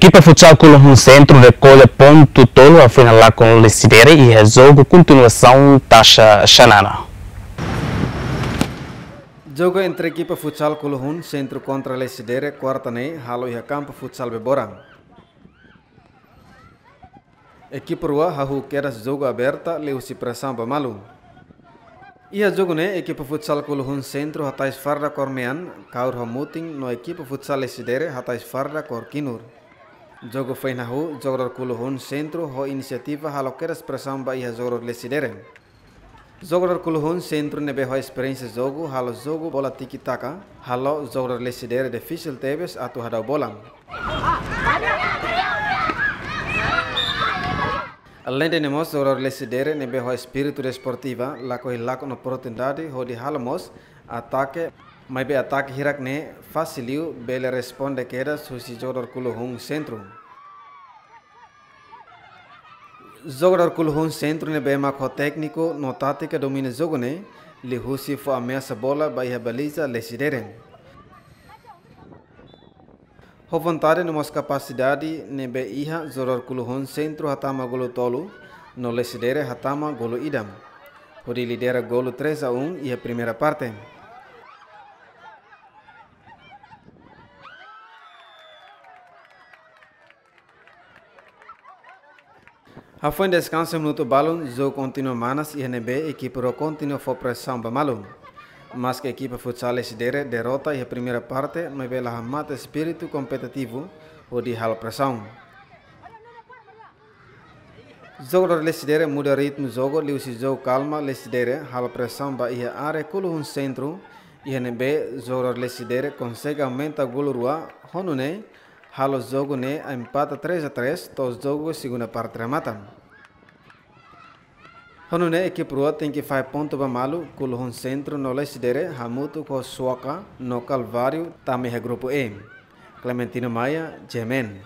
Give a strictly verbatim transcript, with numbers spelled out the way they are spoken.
Ekipa futsal Kuluhun Sentru rekolla pontu tolu hafoin halakon Lecidere iha jogu kontinuasaun taxa Xanana. Jogu entre ekipa futsal Kuluhun Sentru kontra Lecidere kuarta ne'e halo iha kampu futsal Bebora. Ekipa rua hahú kedas jogu aberta liuhusi presaun ba malu. Iha jogu ne'e ekipa futsal Kuluhun Sentru hatais farda kór mean, kaur ho mutin, no ekipa futsal Lecidere hatais farda kór kinur. Jogu foin hahú, jogadór Kuluhun Sentru ho inisiativa halo kedas presaun ba iha jogadór Lecidere. Jogadór Kuluhun Sentru ne'ebé ho esperiénsia jogu halo jogu bola tiki-taka, halo jogadór Lecidere difisil tebes atu hadau bola. Aleinde ne'e mós jogadór Lecidere ne'ebé ho espíritu desportiva lakohi lakon oportunidade hodi halo mós atake, maibé atake hirak ne'e fasil liu bele responde kedas husi jogadór Kuluhun Sentru. Jogadór Kuluhun Sentru ne'ebé mak ho tékniku no tátika domina jogu ne'e, liuhusi fó ameasa bola ba iha baliza Lecidere. Ho vontade no mós kapasidade ne'ebé iha, jogadór Kuluhun Sentru hatama golu tolu, no Lecidere hatama golu ida, hodi lidera golu três a um iha primeira parte. Hafoin deskansa minutu balun, jogu kontinua manas iha ne'ebé ekipa rua kontinua fó presaun ba malu. Maske ekipa futsal Lecidere derrota iha primeira parte, maibé la hamate espíritu kompetitivu hodi halo presaun. Jogadór Lecidere muda ritmu jogu liuhusi jogu kalma Lecidere halo presaun ba iha área Kuluhun Sentru, iha ne'ebé jogadór Lecidere konsege aumenta golu rua, ho nune'e halo jogu ne'e empata três a três, to'o jogu segunda parte remata. Ho nune'e ekipa rua tenke fahe pontu ba malu, Kuluhun Sentru no Lecidere hamutuk ho Suaka no Kalváriu tama iha grupu E. Clementino Maia, G M N.